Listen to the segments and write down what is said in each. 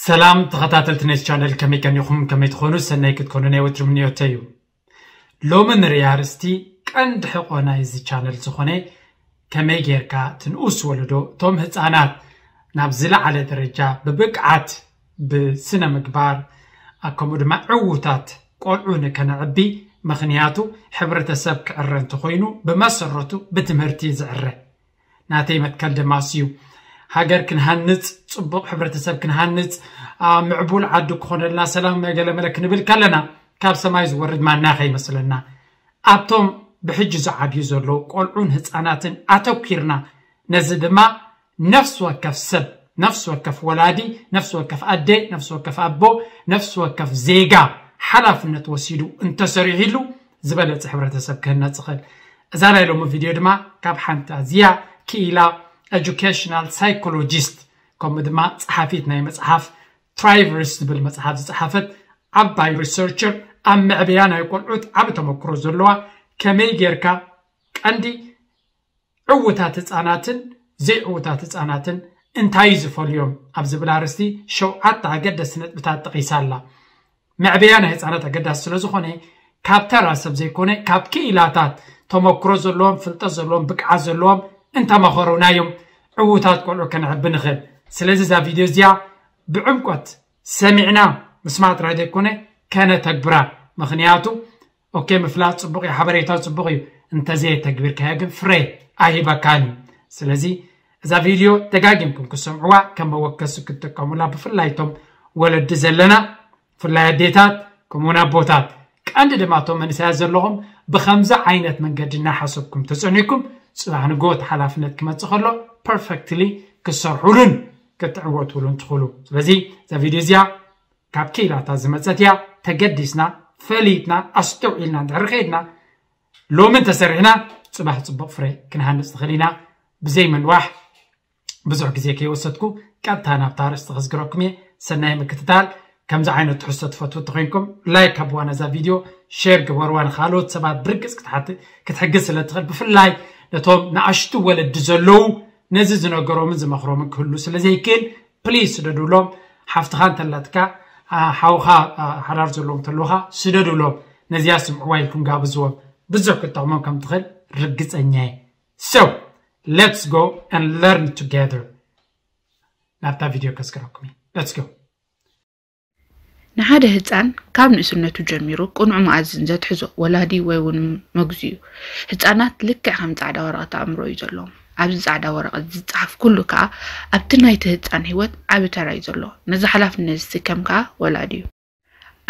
ሰላም ተኸታተልቲ ነዚ ቻነል፣ ከመይ ቀኒኹም? ከመይ ትኾኑ? ሰናይ ክትኮኑ ናይ ወትሩ ምንዮተይ እዩ። ሎሚ ንርኢ ኣርእስቲ ቀንዲ ሕቆ ናይዚ ቻነል ዝኾነ ከመይ ጌርካ እቲ ንኡስ ወለዶ፣ እቶም ህፃናት ናብ ዝለዓለ ደረጃ ብብቅዓት፣ ብስነ ምግባር፣ ከምኡ ድማ ዕዉታት ቆልዑ ንከነዕቢ፣ ምኽንያቱ ሕብረተሰብ ክዕረ እንተኾይኑ ብመሰረቱ ብትምህርቲ ዝዕረ። ናተይ መትከል ድማ እሱ እዩ። ሃገር ክንሃንፅ፣ ፅቡቕ ሕብረተሰብ ክንሃንፅ፣ አ፣ ምዕቡል ዓዲ ክኾነልና፣ ሰላም መገለመለ ክንብል ከለና ካብ ሰማይ ዝወርድ ማና ከይመስለና፣ ኣብቶም ብሕጂ ዝዓብዩ ዘለዉ ቆልዑን ህፃናትን ኣተኲርና፣ ነዚ ድማ ነፍሲ ወከፍ ሰብ፣ ነፍሲ ወከፍ ወላዲ፣ ነፍሲ ወከፍ ኣደ፣ ነፍሲ ወከፍ ኣቦ፣ ነፍሲ ወከፍ ዜጋ ሓላፍነት ወሲዱ እንተሰሪሕሉ ዝበለፀ ሕብረተሰብ ክህነፅ ይኽእል። እዛ ናይ ሎሚ ቪድዮ ድማ ካብ ሓንቲ ኣዝያ ክኢላ ኤጁኬሽናል ሳይኮሎጂስት፣ ከምኡ ድማ ጸሓፊት ናይ መጽሓፍ ትራይቨርስ ዝብል መጽሓፍ ዝጸሓፈት ዓባይ ሪሰርቸር፣ ኣብ መዕበያ ናይ ቆልዑት ዓቢ ተመክሮ ዘለዋ፣ ከመይ ጌርካ ቀንዲ ዕዉታት ህጻናትን ዘይዕዉታት ህጻናትን እንታይ እዩ ዝፈልዮም ኣብ ዝብል ኣርእስቲ ሸውዓተ ኣገደስቲ ነጥብታት ጠቒሳ ኣላ። መዕበያ ናይ ህጻናት ኣገዳሲ ስለ ዝኾነ፣ ካብ ተራ ሰብ ዘይኮነ፣ ካብ ክኢላታት፣ ተመክሮ ዘለዎም፣ ፍልጠት ዘለዎም፣ ብቅዓት ዘለዎም እንተመኸሩና እዮም ዕዉታት ቆልዑ ከነዕቢ ንኽእል። ስለዚ እዛ ቪድዮ እዚኣ ብዕምቆት ሰሚዕና ምስማዕ ጥራይ ዘይኮነ፣ ከነተግብራ። ምኽንያቱ፣ ኦኬ፣ ምፍላጥ ጽቡቕ እዩ፣ ሓበሬታ ጽቡቕ እዩ፣ እንተዘየተግቢርካዮ ግን ፍረ ኣይህበካን እዩ። ስለዚ እዛ ቪድዮ ደጋጊምኩም ክሰምዕዋ፣ ከም መወከሲ ክትጥቀሙላ፣ ብፍላይ እቶም ወለዲ ዘለና፣ ብፍላይ ኣዴታት፣ ከምኡውን ኣቦታት፣ ቀንዲ ድማ እቶም መንእሰያት ዘለኹም፣ ብኸምዚ ዓይነት መንገዲ እናሓሰብኩም ተጸኒዕኩም፣ ጽባሕ ንግሆ እቲ ሓላፍነት ክመጽእ ከሎ ፐርፌክትሊ ክትሰርሑሉን ክትዕወቱሉን ትኽእሉ። ስለዚ እዛ ቪድዮ እዚኣ ካብ ክኢላታት ዝመጸት እያ። ተገዲስና፣ ፈሊጥና፣ ኣስተውዒልና እንድሕር ከይድና፣ ሎሚ እንተሰሪሕና፣ ጽባሕ ጽቡቕ ፍረ ክንሃንጽ ንኽእል ኢና። ብዘይ ምንዋሕ፣ ብዙሕ ግዜ ከይወሰድኩ ቀጥታ ናብታ ኣርእስቲ ከዝግረኩም እየ። ሰናይ ምክትታል። ከምዚ ዓይነት ትሕዝቶ ትፈትዉ እንተኾይንኩም፣ ላይክ ሃብዋ ነዛ ቪድዮ፣ ሼር ግበርዋ፣ ንኻልኦት ሰባት ብርግጽ ክትሓት-፣ ክትሕግዝ ስለ ትኽእል፣ ብፍላይ ነቶም ንኣሽቱ ወለዲ ዘለዉ፣ ነዚ ዝነገሮምን ዝመኽሮምን ክህሉ ስለ ዘይክእል፣ ፕሊዝ ስደዱሎም። ሓፍትኻ እንተላትካ፣ አ፣ ሓውኻ፣ አ፣ ሓዳር ዘለዎም እንተለዉኻ ስደዱሎም። ነዚኣ ስምዕዋ ኢልኩም ጋብዝዎም። ብዙሕ ክትጠቕሞም ከም ትኽእል ርግጸኛ እየ። So, let's go and learn together. ናብታ ቪድዮ ከስክረኩም እየ። Let's go. ንሓደ ህፃን ካብ ንእስነቱ ጀሚሩ ቅኑዕ መኣዝን ዘትሕዞ ወላዲ ወይ እውን መግዙ እዩ። ህፃናት ልክዕ ከም ፃዕዳ ወረቐት ኣእምሮ እዩ ዘለዎም። ኣብዚ ፃዕዳ ወረቐት ዝፀሓፍ ኩሉ ከዓ ኣብቲ ናይቲ ህፃን ህይወት ዓቢ ተራ እዩ ዘለዎ። ነዚ ሓላፍነት ዝስከም ከዓ ወላዲ እዩ።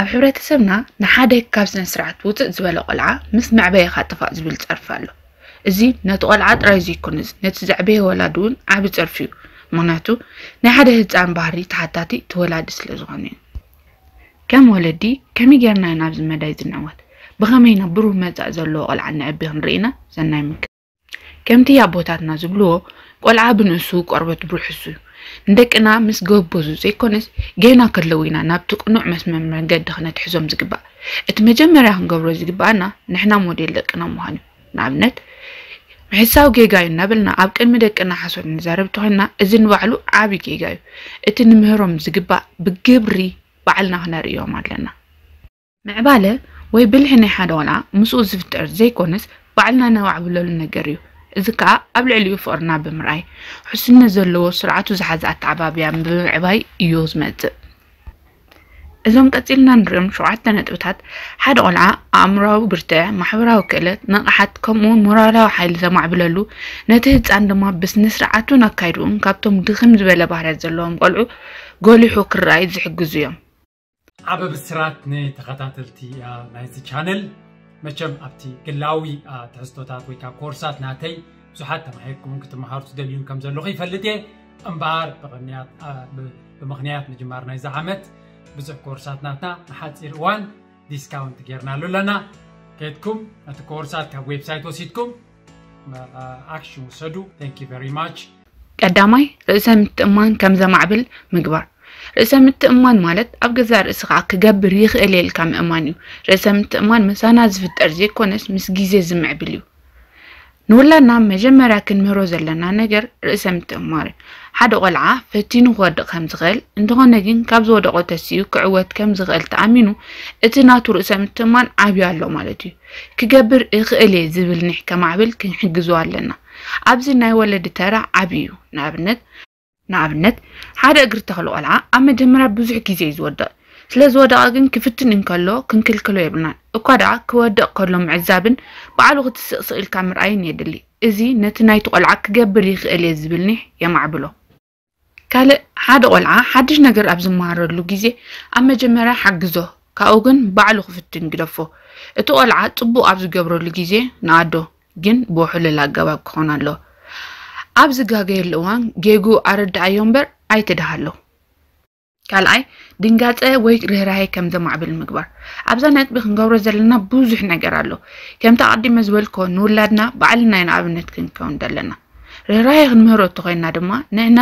ኣብ ሕብረተሰብና ንሓደ ካብ ስነ ስርዓት ውፅእ ዝበለ ቆልዓ ምስ መዕበይኻ ጥፋእ ዝብል ፀርፊ ኣሎ። እዚ ነቲ ቆልዓ ጥራይ ዘይኮነስ ነቲ ዘዕበየ ወላዲ እውን ዓቢ ፀርፊ እዩ። ምኽንያቱ ናይ ሓደ ህፃን ባህሪ ተሓታቲ እቲ ወላዲ ስለ ዝኾነ እዩ። ከም ወለዲ ከመይ ጌርና ኢና ኣብዚ መዳይ ዝንዕወት? ብኸመይ ኢና ብሩህ መጻኢ ዘለዎ ቆልዓ ንዕቢ ክንርኢ ኢና? ሰናይ ምክ-፣ ከምቲ ኣቦታትና ዝብልዎ፣ ቆልዓ ብንእሱ ቆርበት ብርሑሱ እዩ። ንደቅና ምስ ጎበዙ ዘይኮነስ ገና ከለዉ ኢና ናብቲ ቅኑዕ መስመር መንገዲ ክነትሕዞም ዝግባእ። እቲ መጀመርያ ክንገብሮ ዝግባኣና ንሕና ሞዴል ደቅና ምዃን እዩ። ንኣብነት፣ ምሕሳው ጌጋ እዩ እናበልና ኣብ ቅድሚ ደቅና ሓሶት ንዛረብ እንተኾይንና፣ እዚ ንባዕሉ ዓቢ ጌጋ እዩ። እቲ ንምህሮም ዝግባእ ብግብሪ ባዕልና ክነርእዮም ኣለና። ምዕባለ ወይ ብልሒ ናይ ሓደ ቆልዓ ምስኡ ዝፍጠር ዘይኮነስ ባዕልና ነማዕብለሉ ነገር እዩ። እዚ ከኣ ኣብ ልዕሊኡ ፍቕርና ብምርኣይ፣ ውሕስነት ዘለዎ ስርዓቱ ዝሓዘ ኣተዓባብያ ብምዕባይ እዩ ዝመጽእ። እዞም ቀጺልና ንሪኦም ሸውዓተ ነጥብታት ሓደ ቆልዓ ኣእምሮኣዊ ብርትዐ፣ ማሕበራዊ ክእለት፣ ንቕሓት ከምኡውን ሞራላዊ ሓይሊ ዘማዕብለሉ፣ ነቲ ህጻን ድማ ብስነ ስርዓቱን ኣካይድኡን ካብቶም ድኽም ዝበለ ባህርያት ዘለዎም ቆልዑ ጎሊሑ ክረኣይ ዝሕግዙ እዮም። ዓቢ ብስራት ንተኸታተልቲ፣ አ፣ ናይዚ ቻነል። መቸም ኣብቲ ግላዊ፣ አ፣ ትሕዝቶታት ወይ ከዓ ኮርሳት ናተይ ብዙሓት ተማሂርኩምን ክትመሃሩ ትደልዩን ከም ዘለኹ ይፈልጥ እየ። እምበኣር ብቕንያት፣ አ፣ ብ-፣ ብምኽንያት ምጅማር ናይዚ ዓመት ብዙሕ ኮርሳት ናትና ንሓፂር እዋን ዲስካውንት ጌርናሉ ኣለና። ከድኩም ነቲ ኮርሳት ካብ ዌብሳይት ወሲድኩም፣ አ፣ ኣክሽን ውሰዱ። Thank you very much። ቀዳማይ፣ ርእሰ ምትእምማን ከም ዘማዕብል ምግባር። ርእሰ ምትእምማን ማለት ኣብ ገዛእ ርእስኻ ክገብር ይኽእል እየ ኢልካ ምእማን እዩ። ርእሰ ምትእምማን ምሳና ዝፍጠር ዘይኮነስ ምስ ግዜ ዝምዕብል እዩ። ንውላድና መጀመርያ ክንምህሮ ዘለና ነገር ርእሰ ምትእምማር እዩ። ሓደ ቆልዓ ፈቲኑ ክወድቕ ከም ዝኽእል፣ እንተኾነ ግን ካብ ዝወደቖ ተሲኡ ክዕወት ከም ዝኽእል ተኣሚኑ፣ እቲ ናቱ ርእሰ ምትእምማን ዓብዩ ኣሎ ማለት እዩ። ክገብር እኽእል እየ ዝብል ኒሕ ከማዕብል ክንሕግዞ ኣለና። ኣብዚ ናይ ወለዲ ተራ ዓብዩ እዩ። ንኣብነት፣ ንኣብነት፣ ሓደ እግሪ ተኽሊ ቆልዓ ኣብ መጀመርያ ብዙሕ ግዜ እዩ ዝወድቕ። ስለ ዝወደቐ ግን ክፍትን እንከሎ ክንክልክሎ የብልናን። እኳ ደኣ ክወድቕ ከሎ ምዕዛብን ባዕሉ ክትስቕ ስቕ ኢልካ ምርኣይን የድሊ። እዚ ነቲ ናይቲ ቆልዓ ክገብር ይኽእል እየ ዝብል ኒሕ የማዕብሎ። ካልእ፣ ሓደ ቆልዓ ሓድሽ ነገር ኣብ ዝመሃረሉ ግዜ ኣብ መጀመርያ ሓግዞ፣ ካብኡ ግን ባዕሉ ክፍትን ግደፎ። እቲ ቆልዓ ጽቡቕ ኣብ ዝገብረሉ ግዜ ንኣዶ፣ ግን ብውሕሉል ኣገባብ ክኾን ኣለዎ። ኣብ ዝጋገየሉ እዋን ጌግኡ ኣረድኣዮ እምበር ኣይትድሃሎ። ካልኣይ፣ ድንጋጸ ወይ ርህራሄ ከም ዘማዕብል ምግባር። ኣብዛ ነጥቢ ክንገብሮ ዘለና ብዙሕ ነገር ኣሎ። ከምቲ ኣቐዲመ ዝበልኮ፣ ንውላድና ባዕልና ኢና ኣብነት ክንከውን ዘለና። ርህራሄ ክንምህሮ እተኾይንና ድማ ንሕና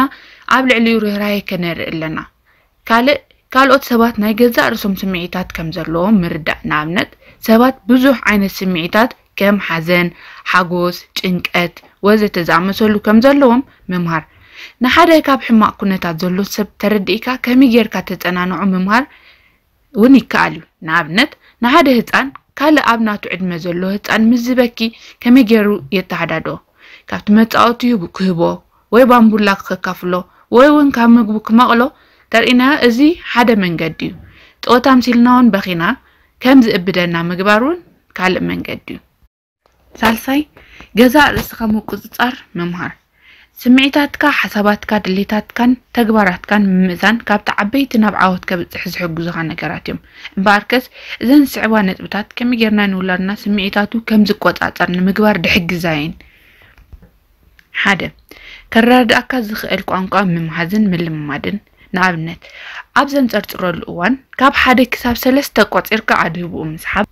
ኣብ ልዕሊኡ ርህራሄ ከነርኢ ኣለና። ካልእ፣ ካልኦት ሰባት ናይ ገዛእ ርእሶም ስምዒታት ከም ዘለዎም ምርዳእ። ንኣብነት፣ ሰባት ብዙሕ ዓይነት ስምዒታት ከም ሓዘን፣ ሓጎስ፣ ጭንቀት ወዘተ ዝኣመሰሉ ከም ዘለዎም ምምሃር። ንሓደ ካብ ሕማቕ ኩነታት ዘሎ ሰብ ተረዲእካ ከመይ ጌርካ ተጸናንዖ ምምሃር እውን ይከኣል እዩ። ንኣብነት፣ ንሓደ ህጻን ካልእ ኣብ ናቱ ዕድመ ዘሎ ህጻን ምስ ዝበኪ ከመይ ገይሩ የተሃዳድኦ? ካብቲ መጻወቲኡ ክህቦ ወይ ባምቡላ ከካፍሎ ወይ እውን ካብ ምግቡ ክመቕሎ ተርእናዮ፣ እዚ ሓደ መንገዲ እዩ። ጸወታ ኣምሲልና እውን በኺና ከም ዝእብደና ምግባር እውን ካልእ መንገዲ እዩ። ሳልሳይ፣ ገዛእ ርእስኻ ምቁጽጻር ምምሃር። ስምዒታትካ፣ ሓሳባትካ፣ ድሌታትካን ተግባራትካን ምምእዛን ካብቲ ዓበይቲ ናብ ዓወት ከብጽሕ ዝሕግዙኻ ነገራት እዮም። እምበኣርከስ፣ እዘን ዝስዕባ ነጥብታት ከመይ ጌርና ንውላድና ስምዒታቱ ከም ዝቆጻጸር ንምግባር ድሕግዛ እየን። ሓደ፣ ከረዳድኣካ ዝኽእል ቋንቋ ምምሃዝን ምልምማድን። ንኣብነት፣ ኣብ ዘንጸርጽረሉ እዋን ካብ ሓደ ክሳብ ሰለስተ ቆጺርካ ኣድህብኡ ምስሓብ።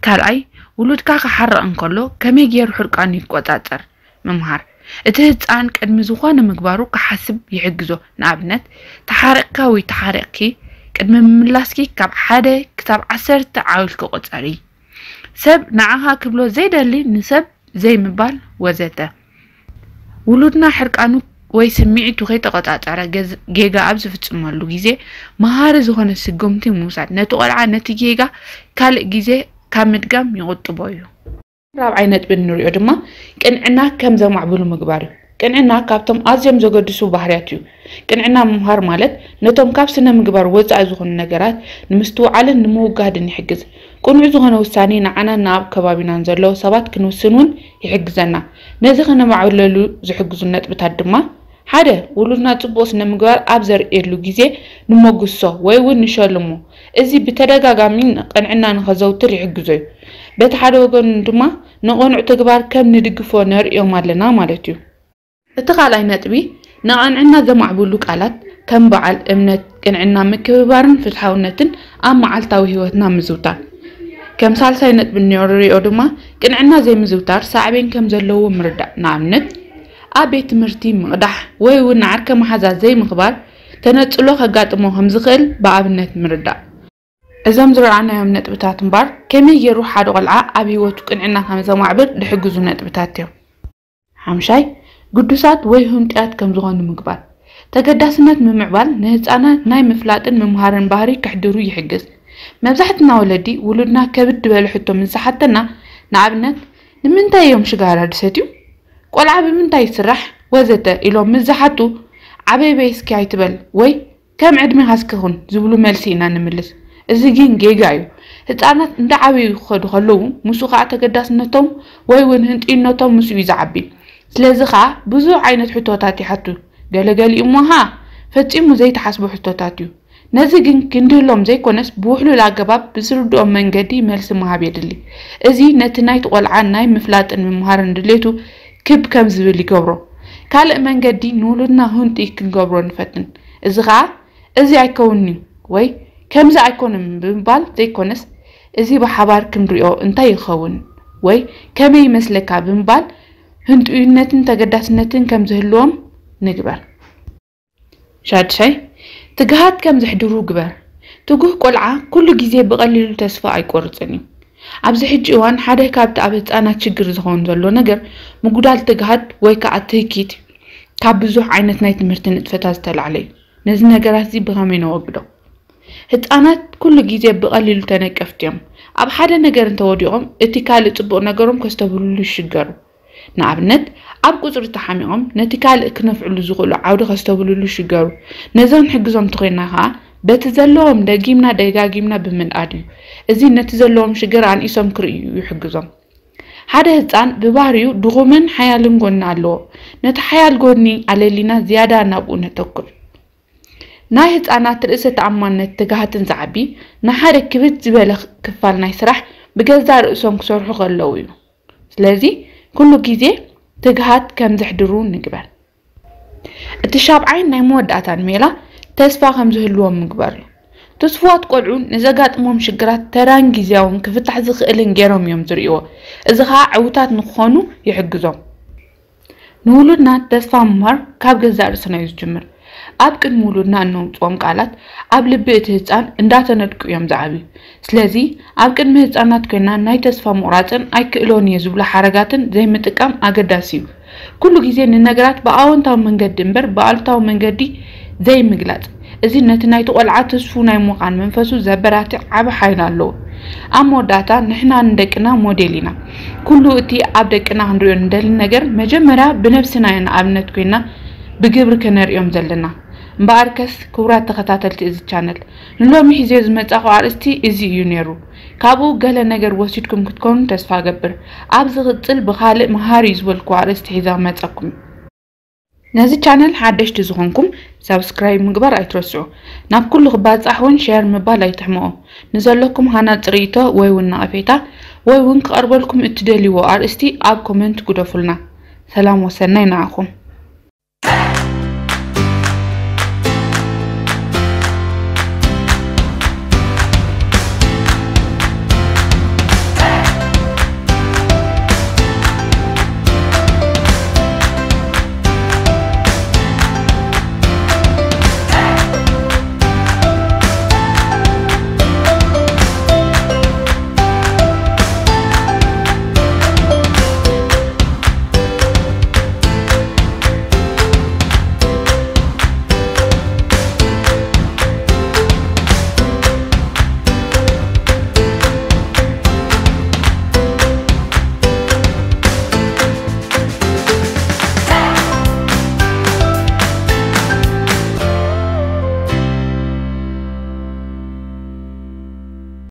ካልኣይ፣ ውሉድካ ክሓርቕ እንከሎ ከመይ ገይሩ ሕርቃኑ ይቆጻጸር ምምሃር። እቲ ህጻን ቅድሚ ዝኾነ ምግባሩ ክሓስብ ይሕግዞ። ንኣብነት፣ ተሓሪቕካ ወይ ተሓሪቕኪ ቅድሚ ምምላስኪ ካብ ሓደ ክሳብ ዓሰርተ ዓው ኢልኪ ቁጸሪ። ሰብ ንዓኻ ክብሎ ዘይደሊ ንሰብ ዘይምባል ወዘተ። ውሉድና ሕርቃኑ ወይ ስምዒቱ ከይተቆጻጸረ ገዝ-፣ ጌጋ ኣብ ዝፍጽመሉ ግዜ መሃሪ ዝኾነ ስጉምቲ ምውሳድ ነቲ ቆልዓ ነቲ ጌጋ ካልእ ግዜ ካብ ምድጋም ይቑጥቦ እዩ። ራብዓይ ነጥቢ እንሪኦ ድማ ቅንዕና ከም ዘማዕብሉ ምግባር እዩ። ቅንዕና ካብቶም ኣዝዮም ዘገድሱ ባህርያት እዩ። ቅንዕና ምምሃር ማለት ነቶም ካብ ስነ ምግባር ወጻኢ ዝኾኑ ነገራት ንምስትውዓልን ንምውጋድን ይሕግዝ። ቅኑዕ ዝኾነ ውሳኔ ንዓናን ንኣብ ከባቢናን ዘለዉ ሰባት ክንውስን እውን ይሕግዘና። ነዚ ከነማዕብለሉ ዝሕግዙ ነጥብታት ድማ፣ ሓደ፣ ውሉድና ጽቡቕ ስነ ምግባር ኣብ ዘርእየሉ ግዜ ንመጉሶ ወይ እውን ንሸልሞ። እዚ ብተደጋጋሚ ንቕንዕና ንኸዘውትር ይሕግዞ እዩ። በቲ ሓደ ወገኑ ድማ ንቕኑዕ ተግባር ከም ንድግፎ ነርእዮም ኣለና ማለት እዩ። እቲ ካልኣይ ነጥቢ፣ ንቕንዕና ዘማዕብሉ ቃላት ከም በዓል፣ እምነት፣ ቅንዕና፣ ምክብባርን ፍትሓውነትን ኣብ መዓልታዊ ህይወትና ምዝውታር። ከም ሳልሳይ ነጥቢ እንሪኦ ድማ፣ ቅንዕና ዘይምዝውታር ሳዕቤን ከም ዘለዎ ምርዳእ። ንኣብነት፣ ኣብ ቤት ትምህርቲ ምቕዳሕ ወይ እውን ንዓርከ መሓዛ ዘይምኽባር ተነጽሎ ከጋጥሞ ከም ዝኽእል ብኣብነት ምርዳእ። እዞም ዝረኣናዮም ነጥብታት እምበኣር፣ ከመይ ገይሩ ሓደ ቆልዓ ኣብ ህይወቱ ቅንዕና ከም ዘማዕብል ዝሕግዙ ነጥብታት እዮም። ሓምሻይ፣ ግዱሳት ወይ ህንጡያት ከም ዝኾኑ ምግባር። ተገዳስነት ምምዕባል ንህጻናት ናይ ምፍላጥን ምምሃርን ባህሪ ከሕድሩ ይሕግዝ። መብዛሕትና ወለዲ ውሉድና ከብድ ዝበለ ሕቶ ምስ ዝሓተና፣ ንኣብነት፣ ንምንታይ እዮም ሽጋራ ዝሰትዩ? ቆልዓ ብምንታይ ይስራሕ? ወዘተ ኢሎም ምስ ዝሓቱ፣ ዓበይ በይ እስኪ ኣይትበል ወይ ከም ዕድሜኻ እስኪ ኩን ዝብሉ መልሲ ኢና ንምልስ። እዚ ግን ጌጋ እዩ። ህጻናት እንዳዓበዩ ክኸዱ ከለዉ፣ ምስኡ ኸኣ ተገዳስነቶም ወይ እውን ህንጥዩነቶም ምስኡ እዩ ዝዓቢ። ስለዚ ኸኣ ብዙሕ ዓይነት ሕቶታት ይሓቱ። ገለገሊኡ እሞ ኸኣ ፈጺሙ ዘይተሓስቦ ሕቶታት እዩ። ነዚ ግን ክንድህሎም ዘይኮነስ ብውሕሉል ኣገባብ ብዝርድኦም መንገዲ መልሲ ምሃብ የድሊ። እዚ ነቲ ናይቲ ቆልዓ ናይ ምፍላጥን ምምሃርን ድሌቱ ክብ ከም ዝብል ይገብሮ። ካልእ መንገዲ ንውሉድና ህንጡይ ክንገብሮ ንፈትን። እዚ ኸኣ እዚ ኣይከውንን'ዩ ወይ ከምዚ ኣይኮነን ብምባል ዘይኮነስ፣ እዚ ብሓባር ክንሪኦ እንታይ ይኸውን ወይ ከመይ ይመስለካ ብምባል ህንጡይነትን ተገዳስነትን ከም ዝህልዎም ንግበር። ሻድሻይ፣ ትግሃት ከም ዘሕድሩ ግበር። ትጉህ ቆልዓ ኩሉ ግዜ ብቐሊሉ ተስፋ ኣይቆርጽን እዩ። ኣብዚ ሕጂ እዋን ሓደ ካብቲ ኣብ ህፃናት ችግር ዝኸውን ዘሎ ነገር ምጉዳል ትግሃት ወይ ከዓ ትህኪት ካብ ብዙሕ ዓይነት ናይ ትምህርቲ ንጥፈታት ዝተላዕለ እዩ። ነዚ ነገራት እዚ ብኸመይ ነወግዶ? ህፃናት ኩሉ ግዜ ብቐሊሉ ተነቀፍቲ እዮም። ኣብ ሓደ ነገር እንተወዲቖም እቲ ካልእ ፅቡቕ ነገሮም ከስተብህሉሉ ይሽገሩ። ንኣብነት ኣብ ቁፅሪ ተሓሚቖም ነቲ ካልእ ክነፍዕሉ ዝኽእሉ ዓውዲ ከስተብህሉሉ ይሽገሩ። ነዚ ክንሕግዞም እንተኾይንና ከዓ በቲ ዘለዎም ደጊምና ደጋጊምና ብምንኣድ እዩ። እዚ ነቲ ዘለዎም ሽግር ኣንኢሶም ክርእዩ ይሕግዞም። ሓደ ህፃን ብባህሪኡ ድኹምን ሓያልን ጎኒ ኣለዎ። ነቲ ሓያል ጎኒ ኣለሊና ዝያዳ ናብኡ ነተኩር። ናይ ህፃናት ርእሰ ተኣማንነት ትግሃትን ዝዓቢ ንሓደ ክብድ ዝበለ ክፋል ናይ ስራሕ ብገዛእ ርእሶም ክሰርሑ ከለዉ እዩ። ስለዚ ኩሉ ግዜ ትግሃት ከም ዘሕድሩ ንግበር። እቲ ሻብዓይን ናይ መወዳእታን ሜላ ተስፋ ከም ዝህልዎም ምግባር እዩ። ትስፉዋት ቆልዑ ንዘጋጥሞም ሽግራት ተራን ግዜያውን ክፍታሕ ዝኽእልን ገይሮም እዮም ዝርእይዎ። እዚ ኸዓ ዕውታት ንክኾኑ ይሕግዞም። ንውሉድና ተስፋ ምምሃር ካብ ገዛእ ርእስና እዩ ዝጅምር። ኣብ ቅድሚ ውሉድና እነውፅኦም ቃላት ኣብ ልቢ እቲ ህፃን እንዳተነድቁ እዮም ዝዓብዩ። ስለዚ ኣብ ቅድሚ ህፃናት ኮይና ናይ ተስፋ ምቑራፅን ኣይክእሎን እየ ዝብሉ ሓረጋትን ዘይምጥቃም ኣገዳሲ እዩ። ኩሉ ግዜ ንነገራት ብኣወንታዊ መንገዲ እምበር ብኣሉታዊ መንገዲ ዘይምግላፅ፣ እዚ ነቲ ናይቲ ቆልዓ ትስፉው ናይ ምዃን መንፈሱ ዘበራትዕ ዓቢ ሓይሊ ኣለዎ። ኣብ መወዳእታ ንሕና ንደቅና ሞዴል ኢና። ኩሉ እቲ ኣብ ደቅና ክንሪኦ ንደሊ ነገር መጀመርያ ብነብስና ኢና ንኣብነት ኮይና ብግብሪ ከነርእዮም ዘለና። እምበኣርከስ ክቡራት ተኸታተልቲ እዚ ቻነል፣ ንሎሚ ሒዘዮ ዝመጻኹ ኣርእስቲ እዚ እዩ ነይሩ። ካብኡ ገለ ነገር ወሲድኩም ክትኮኑ ተስፋ እገብር። ኣብ ዝቕጽል ብኻልእ መሃሪ እዩ ዝበልኩዎ ኣርእስቲ ሒዘ ክመጸኩም። ነዚ ቻነል ሓደሽቲ ዝኾንኩም ሳብስክራይብ ምግባር ኣይትረስዑ። ናብ ኩሉ ክባጻሕ እውን ሸር ምባል ኣይትሕመቑ። ንዘለኩም ሃናጺ ርእይቶ ወይ እውን ነቐፌታ ወይ እውን ክቐርበልኩም እትደልይዎ ኣርእስቲ ኣብ ኮመንት ግደፉልና። ሰላም ወሰናይ ንዓኹም።